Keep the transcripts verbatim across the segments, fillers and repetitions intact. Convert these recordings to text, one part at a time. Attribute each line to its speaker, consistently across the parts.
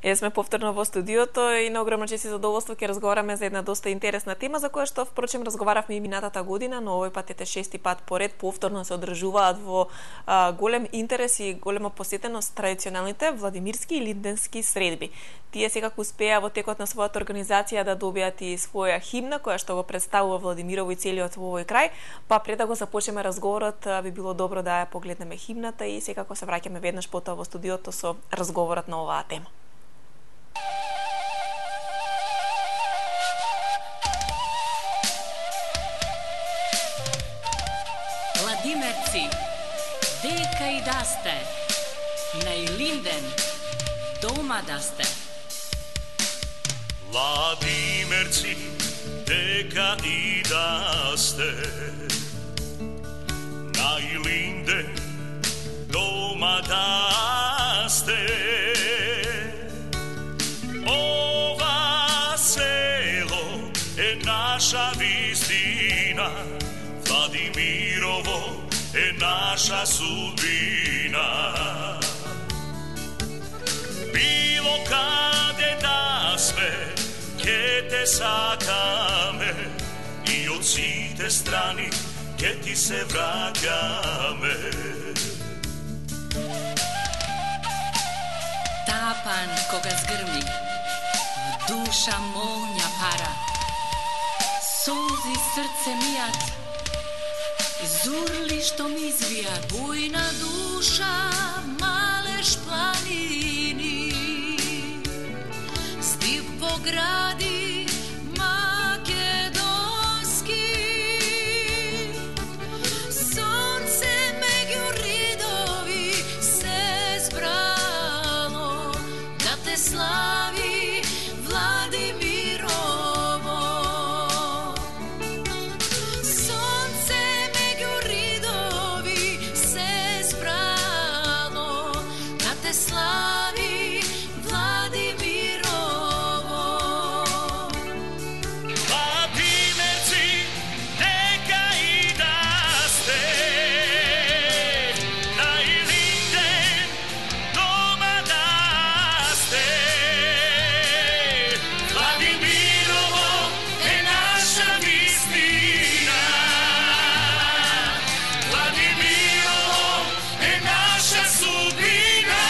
Speaker 1: Е, сме повторно во студиото и на огромно чест и задоволство ќе разговараме за една доста интересна тема за која што впрочем разговаравме и минатата година, но овој пат ете шести пат поред повторно се одржуваат во а, голем интерес и голема посетеност традиционалните владимирски и линденски средби. Тие секако успеа во текот на својата организација да добијат и своја химна која што го представува Владимирово и целиот во овој крај, па пред да го започнеме разговорот би било добро да ја погледнеме химната и секако се враќаме веднаш потоа во студиото со разговорот на оваа тема.
Speaker 2: Владимирци, дека и да сте, најлинден, дома да сте.
Speaker 3: Владимирци, дека и да сте, најлинден, дома да сте. Ова село е наша вистина, Владимирово е наша судбина. Било каде да сме, ке те сакаме и од сите страни ке ти се враќаме.
Speaker 2: Тапан кога згрми, душа молња пара, солзи срце мијат, зурли што ми извијат, бујна душа, малеш планини, стип во гради македонски, сонце меѓу ридови се збрало, да те слави Владимирово. Сонце меѓу ридови се збрало, да те слави Владимирово.
Speaker 3: Владимирци, дека и да сте, најлинден, дома да сте. Владимирово е наша вистина, Владимирово е наша судбина.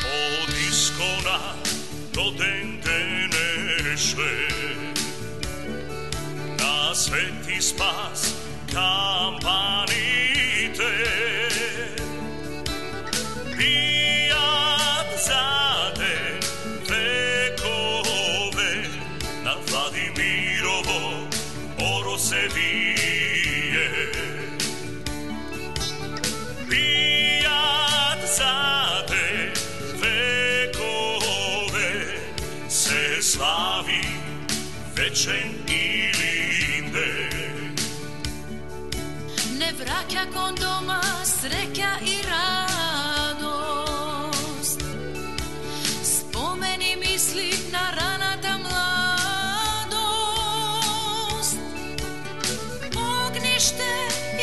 Speaker 3: Од искона до ден денешен, на свети спас кампаните бијат за ден векове, на Владимирово оро се вие. Бијат за ден векове, се слави вечен и линден.
Speaker 2: Не враќа кон дома среќа и радост, спомени мисли на раната младост. Огниште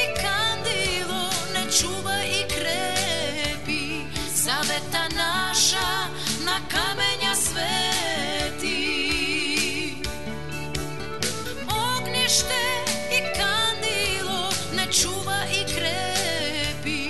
Speaker 2: и кандило не чува и крепи, завета наша на камења свети. Огниште и кандило не чува и крепи,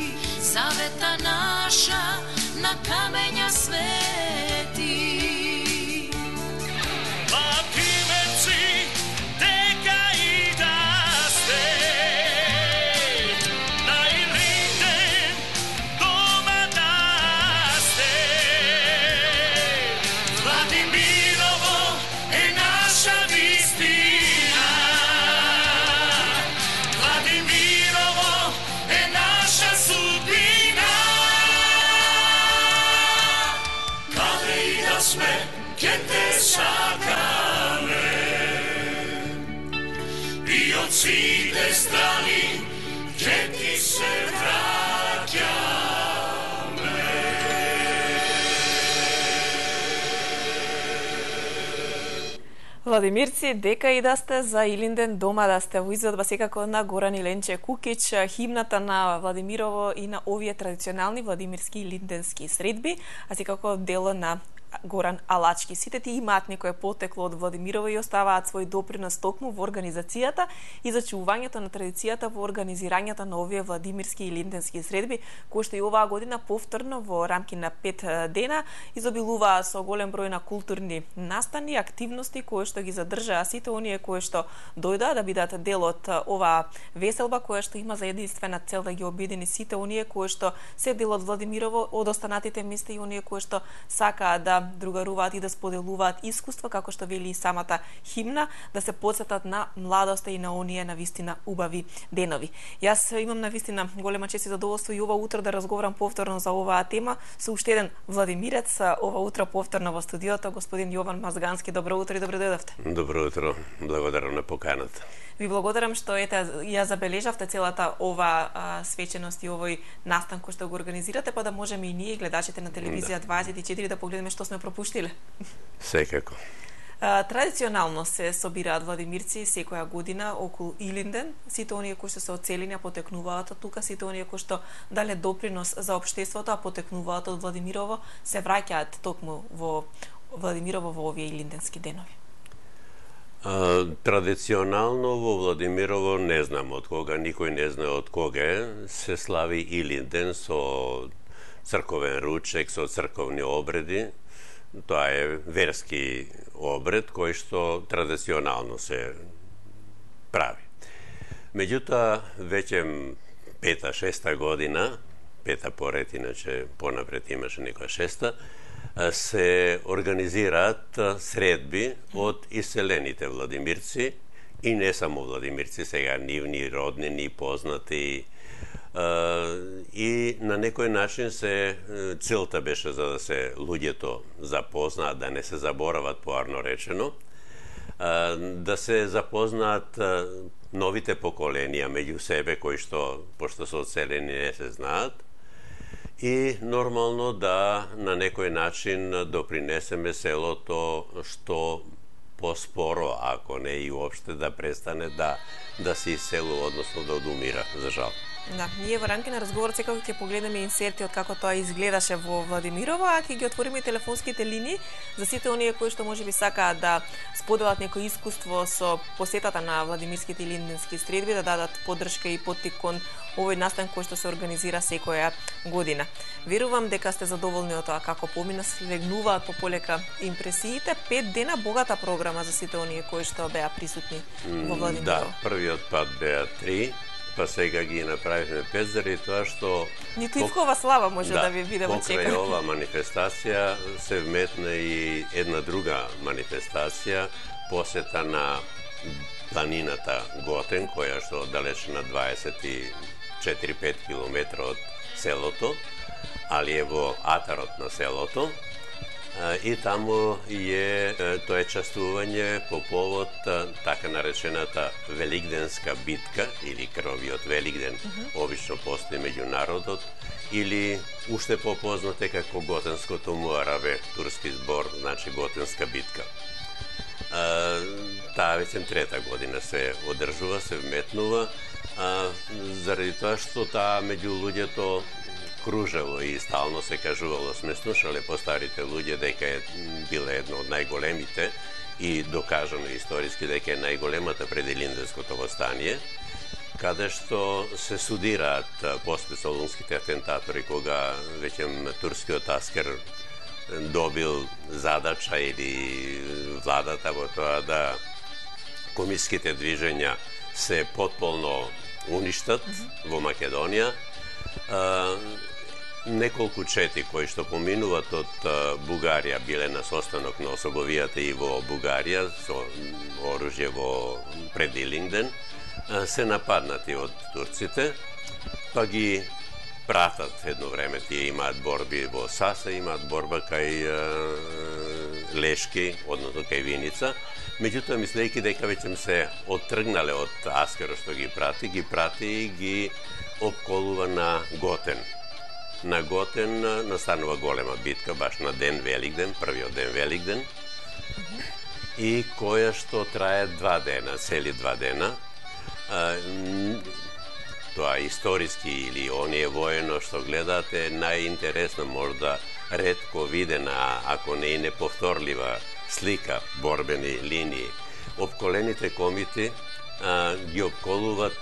Speaker 3: и од сите страни ќе ти се враќаме.
Speaker 1: Владимирци, дека и да сте за Илинден дома да сте во изведба секако на Горан Иленче Кукич, химната на Владимирово и на овие традиционални владимирски илинденски средби, а секако дело на Горан Алачки. Сите ти имаат некое потекло од Владимирово и оставаат свој допринос токму во организацијата и зачувувањето на традицијата во организирањето на овие владимирски и илинденски средби, кои што и оваа година повторно во рамки на пет дена изобилуваа со голем број на културни настани, активности кои што ги задржаа сите оние кои што дојдаа да бидат дел од оваа веселба која што има за единствена цел да ги обедини сите оние кои што се дел од Владимирово, од останатите места и оние кои што сакаат да другаруваат и да споделуваат искуства, како што вели и самата химна, да се потсетат на младоста и на оние на вистина убави денови. Јас имам на вистина голема чест и задоволство и ова утро да разговарам повторно за оваа тема со уште еден владимирец, ова утро повторно во студиото, господин Јован Мазгански. Добро утро и добро дојдовте.
Speaker 4: Добро утро, благодарам на поканата.
Speaker 1: Ви благодарам што ете ја забележавте целата ова а, свеченост и овој настан кој што го организирате, па да можеме и ние гледачите на телевизија да. дваесет и четири да погледнеме што сме пропуштиле.
Speaker 4: Секако.
Speaker 1: А, традиционално се собираат владимирци секоја година околу Илинден. Сите оние кои што се оцелени потекнуваат од тука, сите оние кои што дале допринос за општеството, а потекнуваат од Владимирово, се враќаат токму во Владимирово во овие илинденски денови.
Speaker 4: А, традиционално во Владимирово, не знам од кога, никој не знае од кога е, се слави Илинден со црковен ручек, со црковни обреди. Тоа е верски обред кој што традиционално се прави. Меѓутоа, веќе пета, шеста година, пета поред, иначе понапред имаше некоја шеста, се организираат средби од иселените владимирци и не само владимирци, сега нивни роднини, познати, и на некој начин се целта беше за да се луѓето запознаат, да не се заборават, поарно речено, да се запознаат новите поколенија меѓу себе кои што, пошто се одселени, не се знаат, и нормално да на некој начин допринесеме селото што поспоро, ако не и уопште, да престане да да се иселува, односно да одумира, за жал.
Speaker 1: Да, ние во рамки на разговорот секако ќе погледнеме инсерти од како тоа изгледаше во Владимирово, а ќе ги отвориме и телефонските линии за сите оние кои што можеби сакаат да споделат некој искуство со посетата на владимирските илинденски средби, да дадат поддршка и поттик кон овој настан кој што се организира секоја година. Верувам дека сте задоволни од тоа како помина, слегнуваат пополека импресиите. Пет дена богата програма за сите оние кои што беа присутни во Владимирово.
Speaker 4: Да, првиот пат беа три, па сега ги направивме пет, заради тоа што
Speaker 1: ниту Ивкова слава може да, да ви биде во чека.
Speaker 4: Покрај ова манифестација се вметна и една друга манифестација, посета на планината Готен, која што далеч на дваесет и четири до пет километра од селото, али е во атарот на селото. И таму е тоа е частување по повод така наречената Великденска битка или крвавиот Великден, uh -huh. обично постои меѓу народот, или уште попознате како Готенското муарабе, турски збор, значи Готенска битка. Таа веќе трета година се одржува, се вметнува, заради тоа што таа меѓу луѓето кружело и стално се кажувало, сме слушале по старите луѓе дека е била една од најголемите и докажано историски дека е најголемата пред Илинденското востание, каде што се судираат после солунските атентатори, кога веќе турскиот аскер добил задача или владата во тоа да комиските движења се потполно уништат mm -hmm. во Македонија. Неколку чети кои што поминуват од Бугарија биле на состанок на особовијата и во Бугарија со оружје во пред Илинден, се нападнати од турците, па ги пратат едно време, тие имаат борби во Саса, имаат борба кај Лешки, односно кај Виница. Меѓутоа, мислејќи дека веќе се оттргнале од Аскерот што ги прати, ги прати и ги обколува на Готен. На Готен настанува голема битка, баш на ден Великден, првиот ден Великден, и која што трае два дена, цели два дена. Тоа историски или оние воено што гледате, најинтересно, можда ретко видена, ако не и неповторлива слика, борбени линии. Обколените комити а, ги обколуват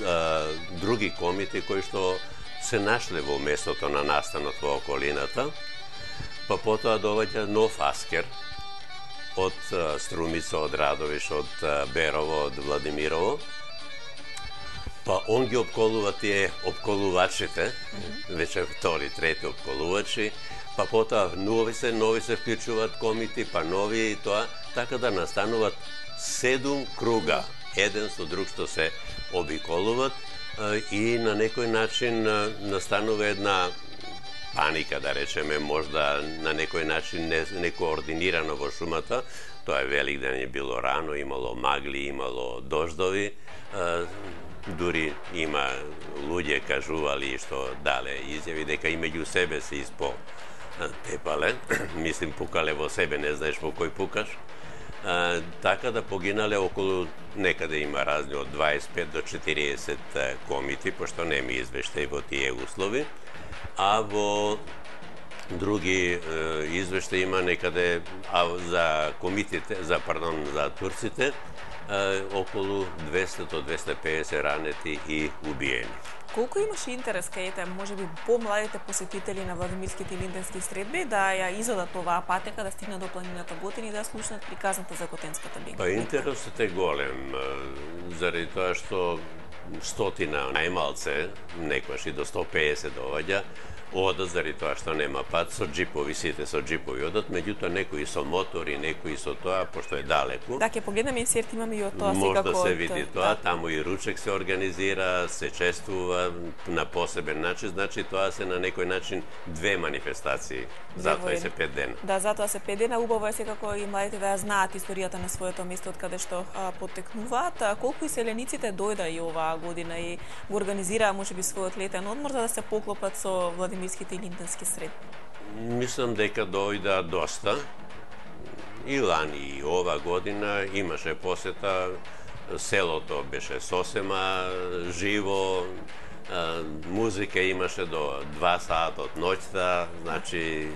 Speaker 4: а, други комити кои што се нашле во местото на настанот во околината, па потоа доаѓа нов Аскер од а, Струмица, од Радовиш, од а, Берово, од Владимирово. Па он ги обколува тие обколувачите, mm-hmm. веќе втори, трети обколувачи, па потоа нови се, нови се вклучуваат комити, па нови и тоа, така да настануваат седум круга, еден со друг што се обиколуваат и на некој начин настанува една паника, да речеме, можда на некој начин не, некоординирано во шумата. Тоа е Великден, е било рано, имало магли, имало дождови, дури има луѓе кажували што дале изјави дека и меѓу себе се испо тепале, мислим пукале во себе, не знаеш во кој пукаш. А, така да погинале околу, некаде има разни од дваесет и пет до четириесет комити, пошто нема извештај во тие услови, а во други е, извештаи има некаде, а за комитите, за пардон, за турците, е, околу двесте до двесте и песет ранети и убиени.
Speaker 1: Колку имаше интерес кај можеби помладите посетители на Владимирските и Линденски средби да ја изодат оваа патека, да стигнат до планината Готен и да слушнат приказната за Готенската битка?
Speaker 4: Па интересот е голем, заради тоа што стотина најмалце, некојаш и до сто и песет доаѓа, одат заради тоа што нема пат, со джипови, сите со джипови одат, меѓутоа некои со мотори, некои со тоа, пошто е далеку.
Speaker 1: Да, ќе погледнеме инсерт, имаме и од тоа
Speaker 4: Може
Speaker 1: секако.
Speaker 4: да се види тоа,
Speaker 1: да.
Speaker 4: таму и ручек се организира, се чествува на посебен начин, значи тоа се на некој начин две манифестации, затоа се пет дена.
Speaker 1: Да, затоа се пет дена, убаво е секако и младите да ја знаат историјата на своето место од каде што а, потекнуваат. А, колку иселениците дојда и оваа година и го организираа можеби својот летен одмор за да се поклопат со Владимирските и Линденски средби?
Speaker 4: Мислам дека дојда доста. И лани и ова година имаше посета, селото беше сосема живо, музика имаше до два сата од ноќта, значи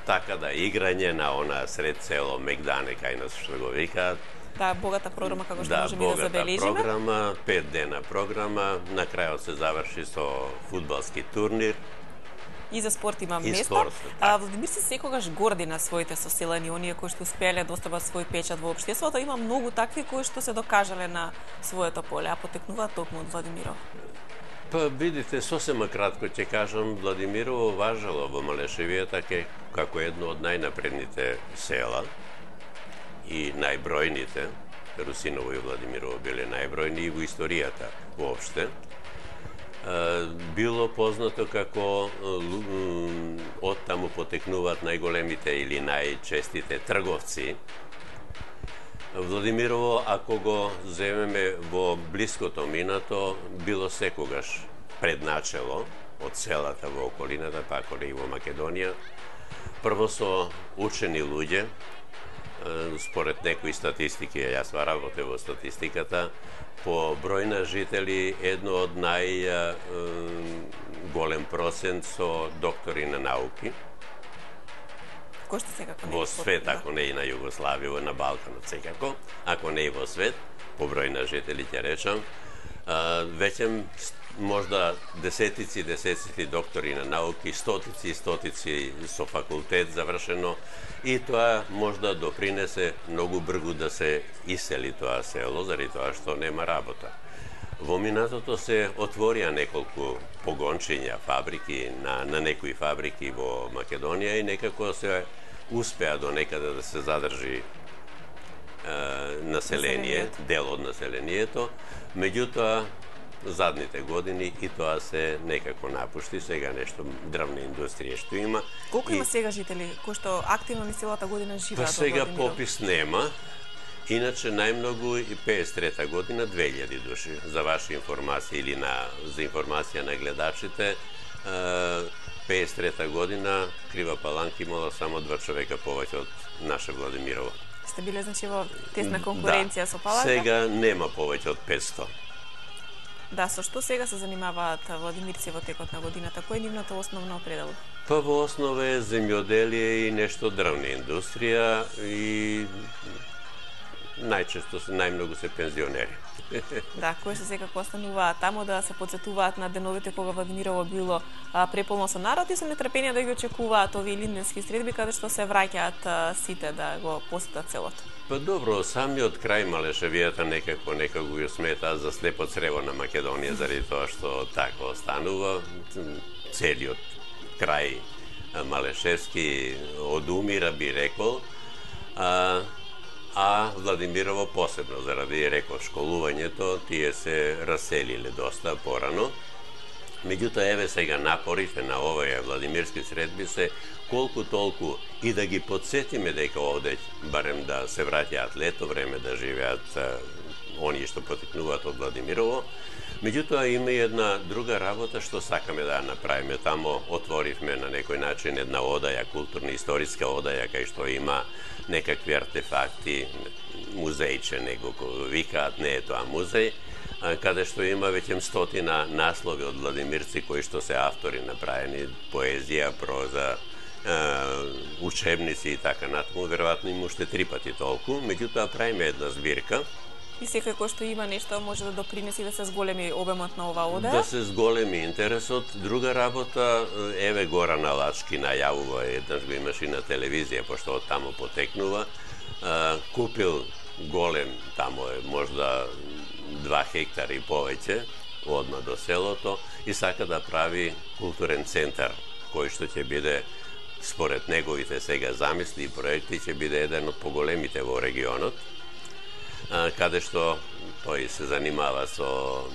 Speaker 4: така да играње на она сред село Мегдане кај нас што го викаат.
Speaker 1: Да, богата програма како што
Speaker 4: да,
Speaker 1: можеме да забележиме.
Speaker 4: Да, богата програма, пет дена програма, на крајот се заврши со фудбалски турнир.
Speaker 1: И за спорт има
Speaker 4: и
Speaker 1: место.
Speaker 4: Спорт,
Speaker 1: а, Владимир се секогаш горди на своите соселани, оние кои што успеале да остават свој печат во општеството. Има многу такви кои што се докажале на своето поле, а потекнуваат токму од Владимиров.
Speaker 4: Па видите, сосема кратко ќе кажам, Владимирово важало во Малешевијата како едно од најнапредните села и најбројните. Русиново и Владимирово биле најбројни и во историјата воопште. Било познато како од таму потекнуваат најголемите или најчестите трговци. Владимирово, ако го земеме во блиското минато, било секогаш предначело од селата во околината, па ако не и во Македонија. Прво со учени луѓе, според некои статистики, јас работев во статистиката, по број на жители едно од најголем процент со доктори на науки.
Speaker 1: Кој што секако не
Speaker 4: во свет, ако не и на Југославија, на Балканот секако, ако не и во свет, по број на жители ќе речам, веќе можда десетици, десетици доктори на науки, стотици и стотици со факултет завршено, и тоа можда допринесе многу бргу да се исели тоа село, заради тоа што нема работа. Во минатото се отворија неколку погончиња, фабрики, на, на некои фабрики во Македонија и некако се успеа до некаде да се задржи е, население, дел од населението. Меѓутоа, задните години и тоа се некако напушти. Сега нешто дрвна индустрија што има.
Speaker 1: Колку
Speaker 4: и...
Speaker 1: има сега жители кои што активно низ целата година живеат?
Speaker 4: Па сега попис нема. Иначе најмногу и пеесет и трета година две илјади души. За ваша информација или на за информација на гледачите, пеесет и трета година Крива Паланка имала само два човека повеќе од наше Владимирово.
Speaker 1: Сте биле значи во тесна конкуренција
Speaker 4: да.
Speaker 1: со Паланка?
Speaker 4: Сега нема повеќе од петсто.
Speaker 1: Да, со што сега се занимаваат владимирци во текот на годината? Кој е нивната основна определба?
Speaker 4: Па во основа е земјоделие и нешто дрвна индустрија и најчесто се најмногу се пензионери.
Speaker 1: Да, кои се секако остануваат таму да се подсетуваат на деновите кога Владимирово било а, преполно со народ и со нетрпение да ги очекуваат овие линденски средби каде што се враќаат а, сите да го посетат селото.
Speaker 4: Па добро, самиот крај Малешевијата некако некако го смета за слепо црево на Македонија заради тоа што така останува. Целиот крај Малешевски одумира, би рекол. А, а Владимирово посебно заради, реков, школувањето, тие се раселиле доста порано. Меѓутоа, еве сега напорите на овие владимирски средби се колку толку и да ги подсетиме дека овде барем да се враќаат лето време да живеат оние што потекнуваат од Владимирово. Меѓутоа има и една друга работа што сакаме да ја направиме. Тамо отворивме на некој начин една одаја, културно-историска одаја, кај што има некакви артефакти, музејче, него викаат, не е тоа музеј, каде што има веќе стотина наслови од владимирци кои што се автори направени, поезија, проза, учебници и така натаму, веројатно има уште три пати толку, меѓутоа правиме една збирка.
Speaker 1: И секој кој што има нешто може да допринеси да се зголеми обемот на ова одаја?
Speaker 4: Да се зголеми интересот. Друга работа, еве Горан Алачки најавува, еднаш го имаш и на телевизија, пошто од таму потекнува, купил голем, таму е можда два хектари и повеќе, одма до селото, и сака да прави културен центар, кој што ќе биде, според неговите сега замисли и проекти, ќе биде еден од поголемите во регионот, каде што тој се занимава со,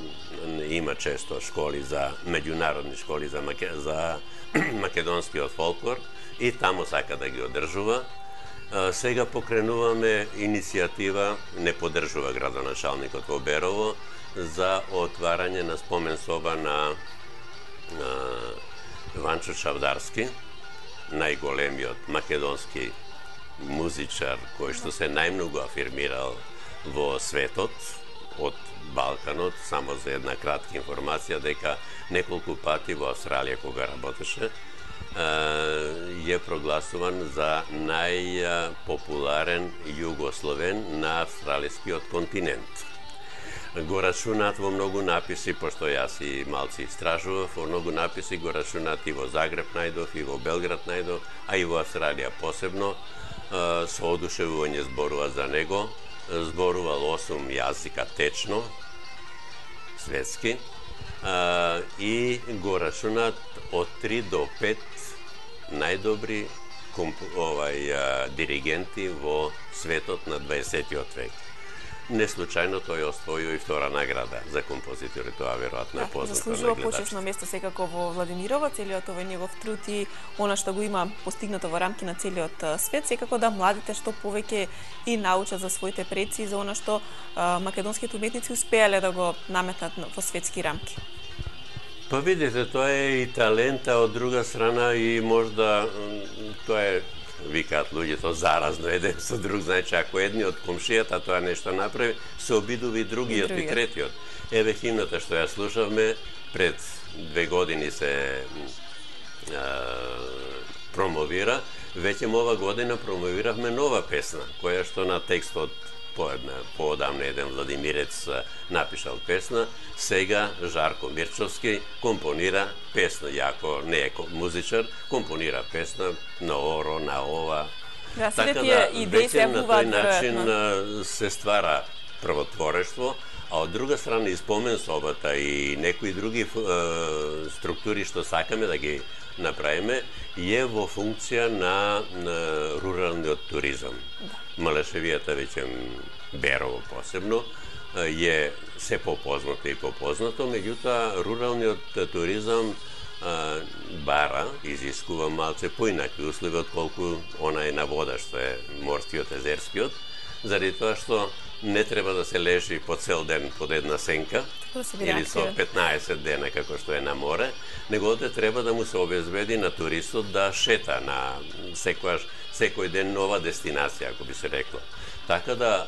Speaker 4: има често школи за, меѓународни школи за, маке, за македонскиот фолклор и таму сака да ги одржува. Сега покренуваме иницијатива, не поддржува градоначалникот во Берово, за отварање на спомен соба на, на Ванчо Чавдарски, најголемиот македонски музичар кој што се најмногу афирмирал во светот, од Балканот. Само за една кратка информација, дека неколку пати во Австралија кога работеше, е прогласуван за најпопуларен југословен на австралискиот континент. Го рачунат во многу написи, пошто јас и малци истражував, во многу написи го рачунат и во Загреб најдов, и во Белград најдов, а и во Австралија посебно. Со одушевување зборува за него. Зборувал осум јазика течно, светски, и го рачунат од три до пет најдобри овај, диригенти во светот на дваесеттиот век. Не случајно тој освојува и втора награда за композитори, тоа веројатно е познато.
Speaker 1: Заслужува почесно место секако во Владимирово, целиот овој негов труд и она што го има постигнато во рамки на целиот свет, секако да младите што повеќе и научат за своите предци и за она што а, македонските уметници успеале да го наметат во светски рамки.
Speaker 4: Па видите, тоа е и талента, од друга страна и можда тоа е, викаат луѓето, заразно еден со друг, значи ако едниот комшијата тоа нешто направи, се обидува и другиот и, и третиот. Еве химната што ја слушавме пред две години се а, промовира, веќе ова година промовиравме нова песна, која што на текстот поедна, поодамна еден владимирец напишал песна, сега Жарко Мирчовски компонира песна, јако не е музичар, компонира песна на оро, на ова.
Speaker 1: Да,
Speaker 4: така
Speaker 1: да,
Speaker 4: веќе на тој начин се ствара првотворештво, а од друга страна и спомен собата и некои други е, структури што сакаме да ги направиме, е во функција на, на руралниот туризам. Да. Малешевијата, веќе Берово посебно, е се попознато и попознато, меѓутоа руралниот туризам а, бара, изискува малце поинакви услови отколку она е на вода, што е морскиот, езерскиот, заради тоа што не треба да се лежи по цел ден под една сенка, или со петнаесет дена како што е на море, него овде треба да му се обезбеди на туристот да шета на секојаш, секој ден нова дестинација, ако би се рекло. Така да,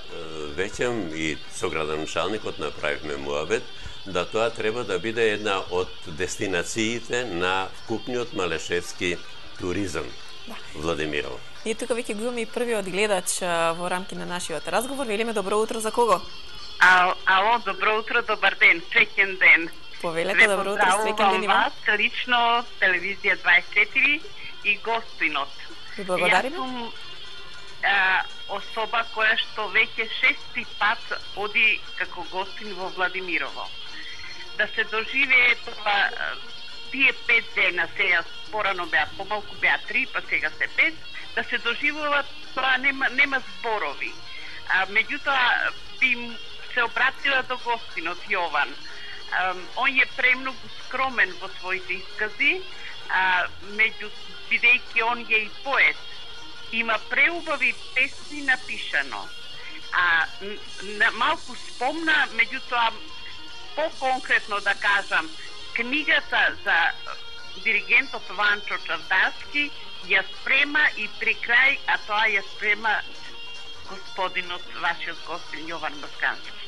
Speaker 4: веќе и со градоначалникот направивме муабет, да тоа треба да биде една од дестинациите на вкупниот малешевски туризам, да. Владимирово.
Speaker 1: Ние тука веќе го имаме и првиот гледач во рамки на нашиот разговор. Велиме добро утро за кого?
Speaker 5: А, ало, добро утро, добар ден, среќен ден.
Speaker 1: Повелете, добро утро, среќен ден има.
Speaker 5: Вас, лично, телевизија дваесет и четири и гостинот.
Speaker 1: Ви благодариме.
Speaker 5: Јас сум а, особа која што веќе шести пат оди како гостин во Владимирово. Да се доживее това, тие пет дена, сега порано беа помалку, беа три, па сега се пет, да се доживува, тоа нема, нема зборови. А, меѓутоа, би се обратила до гостинот Јован. А, он е премногу скромен во своите искази, а, меѓу, бидејќи он е и поет. Има преубави песни напишано. А, н, малку спомна, меѓутоа, по-конкретно да кажам, книгата за диригентот Ванчо Чавдарски ја спрема и при крај, а тоа ја спрема господинот, вашиот гостин Јован Маскански.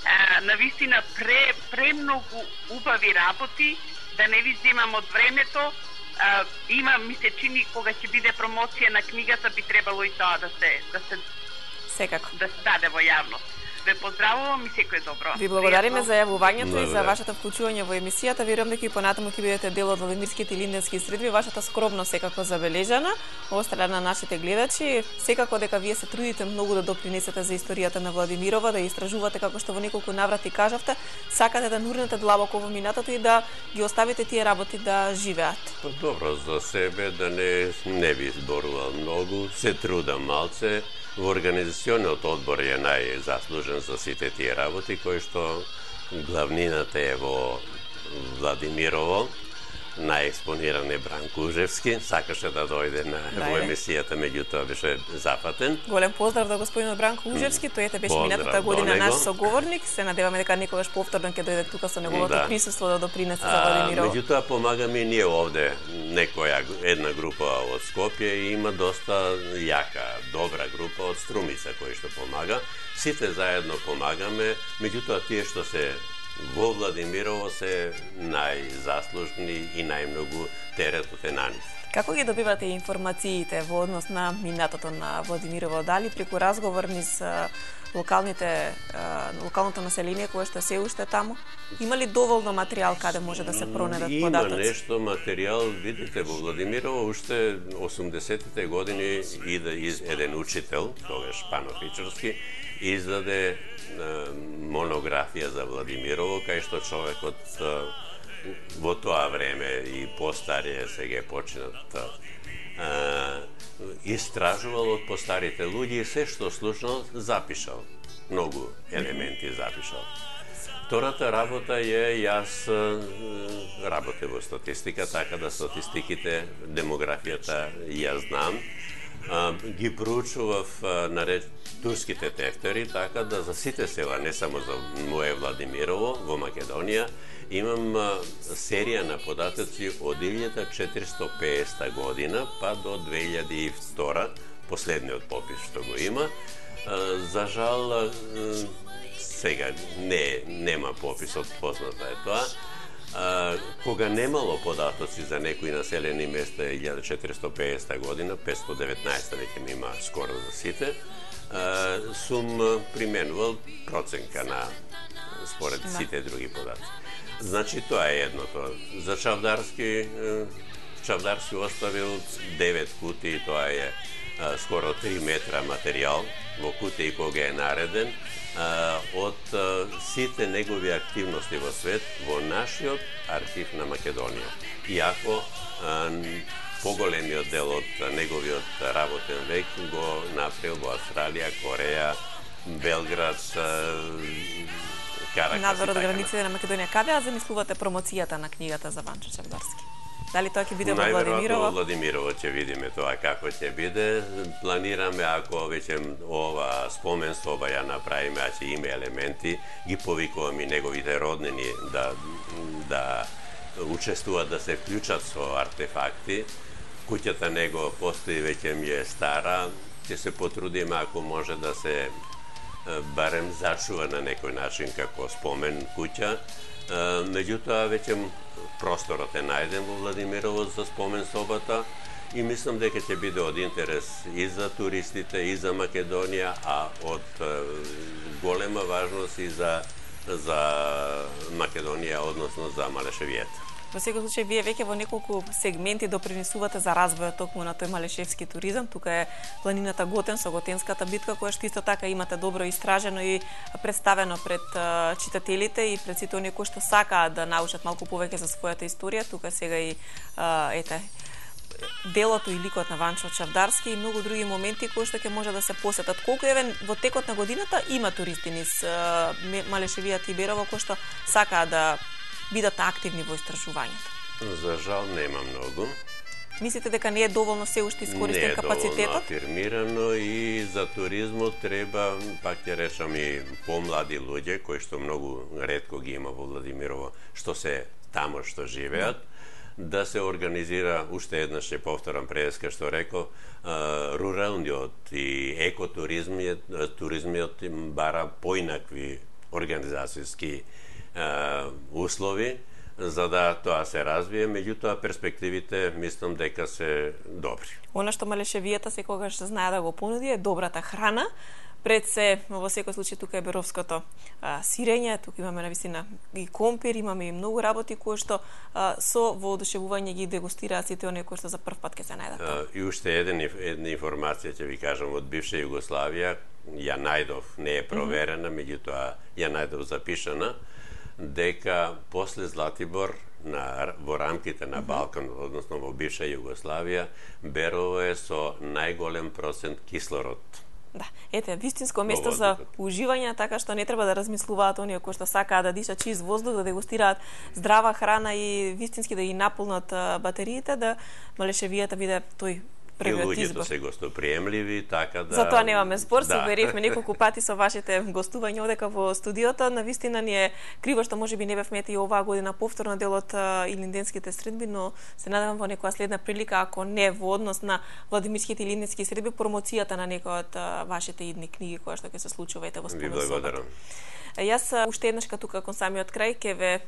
Speaker 5: А, навистина пре, премногу убави работи, да не ви земам од времето, а, има, ми се чини, кога ќе биде промоција на книгата, би требало и тоа да се, да се,
Speaker 1: секако,
Speaker 5: да се даде во јавност. Ве поздравувам и секој добро.
Speaker 1: Ви благодариме за јавувањето и за вашето вклучување во емисијата. Верувам дека и понатаму ќе бидете дел од Владимирските и Линденски средби. Вашата скромност секако забележана од страна на нашите гледачи. Секако дека вие се трудите многу да допринесете за историјата на Владимирова, да ја истражувате како што во неколку наврати кажавте, сакате да нурнете длабоко во минатото и да ги оставите тие работи да живеат.
Speaker 4: Добро за себе, да не не би зборувал многу, се трудам малце. Во организациониот одбор е најзаслужен за сите тие работи, кои што главнината е во Владимирово, најекспониран е Бранко Ужевски, сакаше да дојде на да, во емисијата, меѓутоа беше запатен.
Speaker 1: Голем поздрав до господинот Бранко Ужевски, тој ете беше минатата година наш соговорник, се надеваме дека некогаш повторно ќе дојде тука со неговото да. присуство да допринесе за Владимирово.
Speaker 4: Меѓутоа помагаме и ние овде, некоја една група од Скопје и има доста јака, добра група од Струмица кои што помага. Сите заедно помагаме, меѓутоа тие што се во Владимирово се најзаслужни и најмногу теретот е на нив.
Speaker 1: Како ги добивате информациите во однос на минатото на Владимирово? Дали преку разговор низ локалните локалното население кое што се уште таму? Има ли доволно материјал каде може да се пронедат податоци?
Speaker 4: Има нешто материјал, видите, во Владимирово уште осумдесетите години иде еден учител, тогаш Панофичарски, издаде монографија за Владимирово, кај што човекот во тоа време и постарие сега почнат истражувал од постарите луѓе и се што слушнал запишал. Многу елементи запишал. Втората работа е, јас работе во статистика, така да статистиките, демографијата ја знам. Ги проучував наред турските тефтери, така да за сите села, не само за моје Владимирово, во Македонија, имам серија на податоци од илјада четиристотини и педесета година па до две илјади и втора, последниот попис што го има. За жал, сега не нема пописот, познато е тоа. А, кога немало податоци за некои населени места илјада четиристотини и педесета година, петстотини и деветнаесета веќе ми има скоро за сите, а, сум применувал проценка на според сите други податоци. Значи тоа е едното. За Чавдарски, Чавдарски оставил девет кутии, тоа е а, скоро три метра материјал во кутии кога е нареден, а, од а, сите негови активности во свет во нашиот архив на Македонија. Иако а, поголемиот дел од неговиот работен век го направил во Австралија, Кореја, Белград, Каракас.
Speaker 1: Надвор од границите на Македонија. Каде ја замислувате промоцијата на книгата за Ванчо Чавдарски? Дали тоа ќе биде во Владимирово?
Speaker 4: Најверојатно во Владимирово ќе видиме тоа како ќе биде. Планираме, ако веќе ова спомен соба ја направиме, а ќе има елементи, ги повикуваме и неговите роднини да да учествуваат, да се вклучат со артефакти. Куќата него постои, веќе ми е стара. Ќе се потрудиме, ако може да се барем зачува на некој начин како спомен куќа. Меѓутоа, веќе просторот е најден во Владимирово за спомен собата и мислам дека ќе биде од интерес и за туристите, и за Македонија, а од голема важност и за за Македонија, односно за Малешевијата.
Speaker 1: Во секој случај, вие веќе во неколку сегменти допринесувате за развојот токму на тој малешевски туризам. Тука е планината Готен со Готенската битка, која што исто така имате добро истражено и представено пред uh, читателите и пред сите оние кои што сакаат да научат малку повеќе за својата историја. Тука сега и uh, ете делото и ликот на Ванчо Чавдарски и многу други моменти кои што ќе може да се посетат. Колку евен во текот на годината има туристи низ uh, Малешевијата и Берово кои што сакаат да бидат активни во истражувањето?
Speaker 4: За жал нема многу.
Speaker 1: Мислите дека не е доволно се уште искористен капацитетот?
Speaker 4: Не е доволно афирмирано и за туризмот треба, пак ќе речам, и помлади луѓе, кои што многу ретко ги има во Владимирово, што се тамо што живеат, да се организира, уште еднаш ќе повторам преска што реков, руралниот и екотуризмиот туризмиот бара поинакви организацијски услови за да тоа се развие, меѓутоа перспективите мислам дека се добри.
Speaker 1: Она што Малешевијата секогаш знае да го понуди е добрата храна. Пред се, во секој случај, тука е беровското а, сирење, тука имаме навистина и компир, имаме и многу работи кои што а, со воодушевување ги дегустираат сите оние кои што за прв пат ќе се најдат.
Speaker 4: И уште еден, една информација ќе ви кажам од бивша Југославија, ја најдов, не е проверена, mm -hmm. меѓутоа ја најдов запишана, дека после Златибор на, во рамките на Балкан, односно во бивша Југославија, Берово е со најголем процент кислород.
Speaker 1: Да, ете, вистинско место за уживање, така што не треба да размислуваат оние кои што сакаат да дишат чист воздух, да дегустираат здрава храна и вистински да ги наполнат батериите, да Малешевијата биде тој првиот избор.
Speaker 4: И луѓето се гостоприемливи, така да...
Speaker 1: Затоа немаме спор, се
Speaker 4: да.
Speaker 1: уверивме неколку пати со вашите гостувања одека во студиото. Навистина ни е криво што можеби не бевме и оваа година повторно дел од илинденските средби, но се надевам во некоја следна прилика, ако не во однос на Владимирските илинденски средби, промоцијата на некоја од вашите идни книги која што ќе се случува ете во спомен
Speaker 4: собата. Ви благодарам.
Speaker 1: Јас уште еднашка тука кон самиот крај ќе ве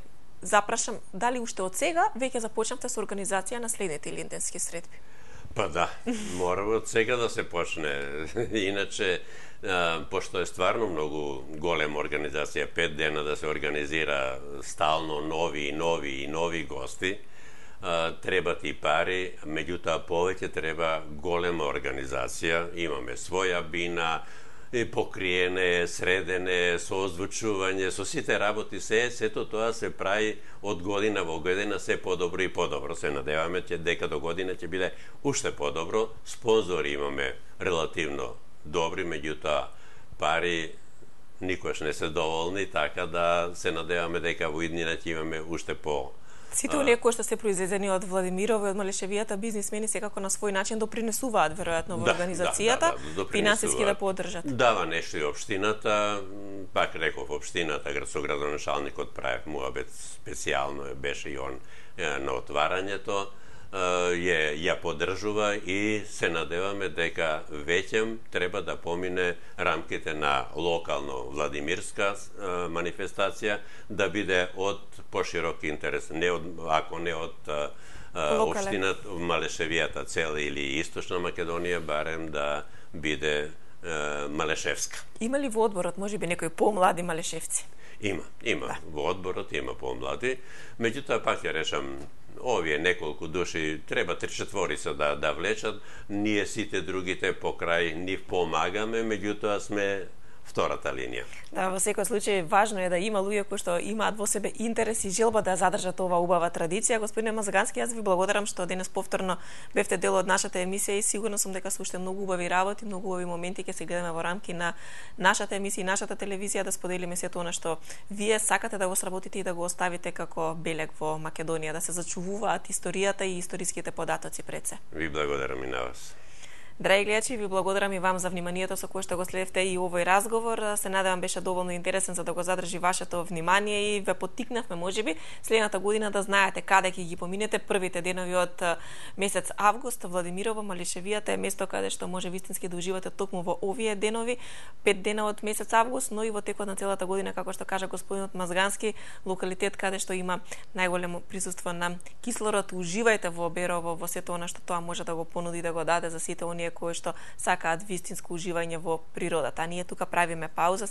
Speaker 1: запрашам дали уште од сега веќе започнавте со организација на следните илинденски средби.
Speaker 4: Па да, мора од сега да се почне. Иначе, а, пошто е стварно многу голема организација, пет дена да се организира стално нови и нови и нови гости, а, требат и пари, меѓутоа повеќе треба голема организација. Имаме своја бина, и покриене, средене, со озвучување, со сите работи, се, сето тоа се прави од година во година се подобро и подобро. Се надеваме че дека до година ќе биде уште подобро. Спонзори имаме релативно добри, меѓутоа пари никош не се доволни, така да се надеваме дека во иднина ќе имаме уште по
Speaker 1: Сите оние кои што се произведени од Владимирово и од Малешевијата бизнисмени секако на свој начин допринесуваат веројатно во
Speaker 4: да,
Speaker 1: организацијата,
Speaker 4: да, да, да,
Speaker 1: финансиски да поддржат.
Speaker 4: Дава нешто и општината, пак реков општината, со градоначалникот правев муабет специјално, беше и он на отварањето, ја, ја поддржува и се надеваме дека веќе треба да помине рамките на локално владимирска манифестација, да биде од поширок интерес, не од, ако не од општината Малешевијата цела или Источна Македонија, барем да биде малешевска.
Speaker 1: Има ли во одборот можеби некои помлади малешевци?
Speaker 4: Има, има. Да. Во одборот има помлади. Меѓутоа, пак ја речам, овие неколку души треба три-четворица да да влечат. Ние сите другите покрај нив помагаме, меѓутоа сме втората линија.
Speaker 1: Да, во секој случај важно е да има луѓе кои што имаат во себе интерес и желба да задржат оваа убава традиција. Господине Мазагански, јас ви благодарам што денес повторно бевте дел од нашата емисија и сигурно сум дека со уште многу убави работи, многу убави моменти ќе се гледаме во рамки на нашата емисија и нашата телевизија да споделиме сето она што вие сакате да го сработите и да го оставите како белег во Македонија, да се зачувуваат историјата и историските податоци пред се.
Speaker 4: Ви благодарам и на вас.
Speaker 1: Драги гледачи, ви благодарам и вам за вниманието со кое што го следевте и овој разговор. Се надевам беше доволно интересен за да го задржи вашето внимание и ве поттикнавме можеби следната година да знаете каде ќе ги поминете првите денови од месец август. Владимирово, Малишевијата е место каде што може вистински да уживате токму во овие денови, пет дена од месец август, но и во текот на целата година, како што кажа господинот Мазгански, локалитет каде што има најголемо присуство на кислород. Уживајте во Берово, во сето она што тоа може да го понуди да го даде за сите оние кои што сакаат вистинско уживање во природата. А ние тука правиме пауза.